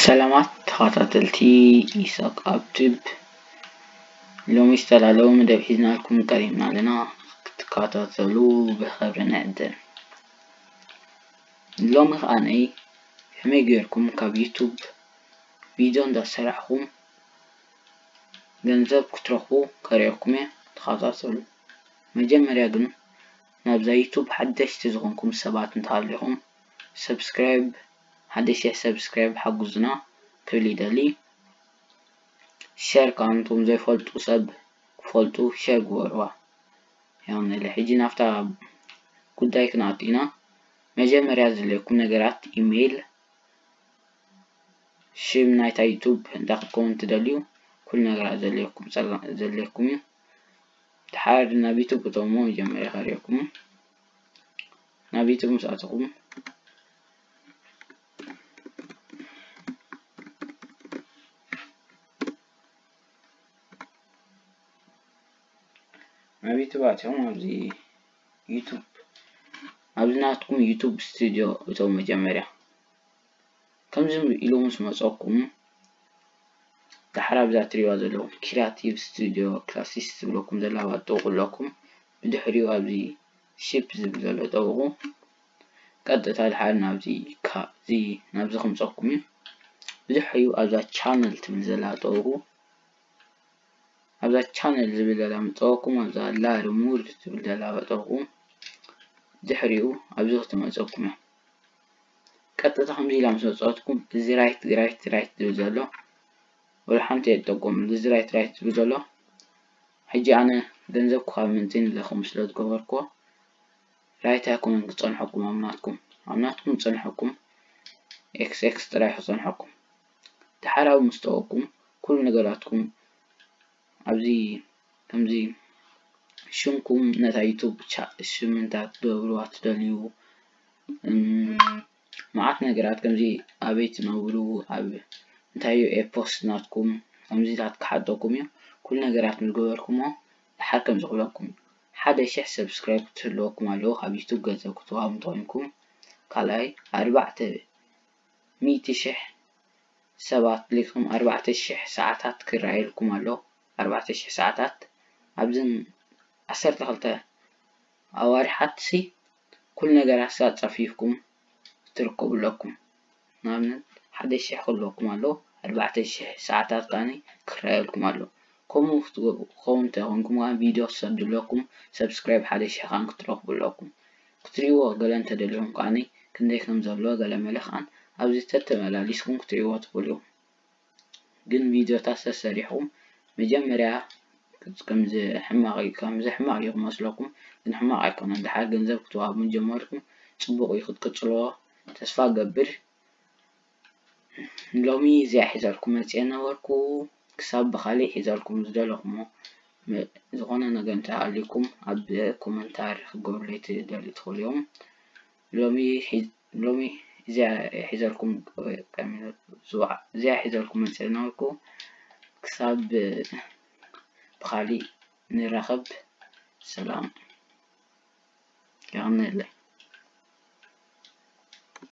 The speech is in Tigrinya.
ሰላማት ተኸታተልቲ ኢሳቅ ኣብ ቲዩብ፣ ሎሚ ዝተዳለወ መደብ ሒዝናልኩም ቀሪብና ኣለና። ክትከታተሉ ብኽብሪ ንዕድም። ሎሚ ከኣ ነይ ከመይ ጌርኩም ካብ ዩቱብ ቪድዮ እንዳሰራሕኩም ገንዘብ ክትረኽቡ ከርእየኩም እየ። ተኸታተሉ። መጀመርያ ግን ናብዛ ዩቱብ ሓደሽቲ ዝኾንኩም ሰባት እንተሃሊኹም፣ ሰብስክራይብ፣ ሓደ ሺሕ ሰብስክራይብ ሓጉዙና ክብል ይደሊ። ሸር ከኣ ነቶም ዘይፈልጡ ሰብ ክፈልጡ ሸር ግበርዋ። ያው ንለ ሕጂ ናብታ ጉዳይ ክንኣቱ ኢና። መጀመርያ ዘድልየኩም ነገራት ኢሜይል፣ ሽም ናይታ ዩቱብ እንታይ ክትከውን ትደልዩ፣ ኩሉ ነገራት ዘድልየኩም ጸጋ-፣ ዘድልየኩም እዩ። ድሓር ናብ ዩቱብ እተውሞ መጀመርያ ከርእየኩም። ናብ ዩቱብ ምስ ኣተኹም፣ ናብ ዩቱብ ኣቲኹም ኣብዚ ዩቱብ፣ ኣብዚ ናትኩም ዩቱብ ስቱዲዮ እተው መጀመርያ። ከምዚ ኢሉ ምስ መጸኩም፣ ዳሕር ኣብዛ ትሪእዋ ዘለኹም ክሪያቲቭ ስቱዲዮ ክላሲስ ዝብለኩም ዘላ ባጥቑ ኣለኩም። ብድሕሪኡ ኣብዚ ሺፕ ዝብል ዘሎ ጠውቑ። ቀጥታ ድሓር ናብዚ ካ-፣ እዚ ናብዚ ከምጸኩም እዩ። ብድሕሪኡ ኣብዛ ቻነል ትብል ዘላ ጠውቑ። ኣብዛ ቻነል ዝብል ዘላ ምጠወኩም፣ ኣብዛ ላሪ ሙር ትብል ዘላ በጠወኩም። ድሕሪኡ ኣብዚ ክትመፀኩም እያ። ቀጥታ ከምዚ ኢላ ምስ መፀወትኩም፣ እዚ ራይት፣ ራይት፣ ራይት ዝብል ዘሎ፣ ወላ ሓንቲ እየ ዝጠቀመሉ። እዚ ራይት፣ ራይት ዝብል ዘሎ፣ ሕጂ ኣነ ገንዘብ ክዋብ ምንትን ኢለ ከምኡ ስለ ዝገበርኩዎ፣ ራይት ኣይኮነን ክጸንሐኩም ኣብ ናትኩም። ኣብ ናትኩም ዝጸንሐኩም ኤክስ ኤክስ ጥራይ ክጸንሐኩም። ድሓር ኣብ ምስ ጠወኩም፣ ኩሉ ነገራትኩም ኣብዚ ከምዚ ሽምኩም ነታ ዩቱብ ቻ-፣ ሽም እንታይ ክትገብርዋ ትደልዩ፣ እም፣ መዓት ነገራት ከምዚ ኣበይ ትነብሩ፣ ኣብ እንታይ እዩ ኤፖስት ናትኩም፣ ከምዚታት ክሓተኩም እዩ። ኩሉ ነገራት ምስ ገበርኩሞ፣ ድሓር ከምዚ ክብለኩም እዩ። ሓደ ሽሕ ሰብስክራይብ ክትህልወኩም ኣለዎ፣ ካብ ዩቱብ ገንዘብ ክትወሃቡ እንተኾይንኩም። ካልኣይ፣ ኣርባዕተ ሚእቲ ሽሕ ሰባት ልኢኹም፣ ኣርባዕተ ሽሕ ሰዓታት ክረኣየልኩም ኣሎ። ኣርባዕተ ሽሕ ሰዓታት ኣብዘን ዓሰርተ ክልተ ኣዋርሓትሲ ኩሉ ነገራት ኣጻፊፍኩም ትርከቡ ኣለኩም። ንኣብነት ሓደ ሽሕ ክህልወኩም ኣሎ፣ ኣርባዕተ ሽሕ ሰዓታት ከኣ ክረኣየልኩም ኣሎ። ከምኡ ክትገብሩ ክኸውን እንተኾይንኩም ከኣ ቪድዮ ክሰዱ ኣለኩም፣ ሰብስክራይብ ሓደ ሽሕ ከኣ ክትረኽቡ ኣለኩም። ክትሪእዎ ገለ እንተደሊኹም ከኣ ክንደይ ከም ዘሎ ገለ መለ ከኣ ኣብዚ ተተመላሊስኩም ክትሪእዎ ትኽእሉ ኢኹም። ግን ቪድዮታት ተሰሪሕኩም መጀመርያ ከምዚ ሕማቕ እዩ፣ ከምዚ ሕማቕ እዩ ክመስለኩም፣ ግን ሕማቕ ኣይኮነን። ድሓር ገንዘብ ክትወሃቡ ጀመርኩም፣ ጽቡቕ እዩ፣ ክትቅጽልዎ ተስፋ እገብር። ሎሚ እዚኣ ሒዘልኩም መጽየ ነበርኩ። ክሳብ ብኻሊእ ሒዘልኩም ዝደለኹሞ መ-፣ ዝኾነ ነገር እንተሃልዩኩም ኣብ ኮመንታር ክገብሩለይ ትደልዩ ትኽእሉ እዮም። ሎሚ ሒ-፣ ሎሚ እዚኣ ሒዘልኩም፣ እዚኣ ሒዘልኩም መጽየ ነበርኩ። ክሳብ ብኻሊእ ንራኸብ። ሰላም። የቐንየለይ።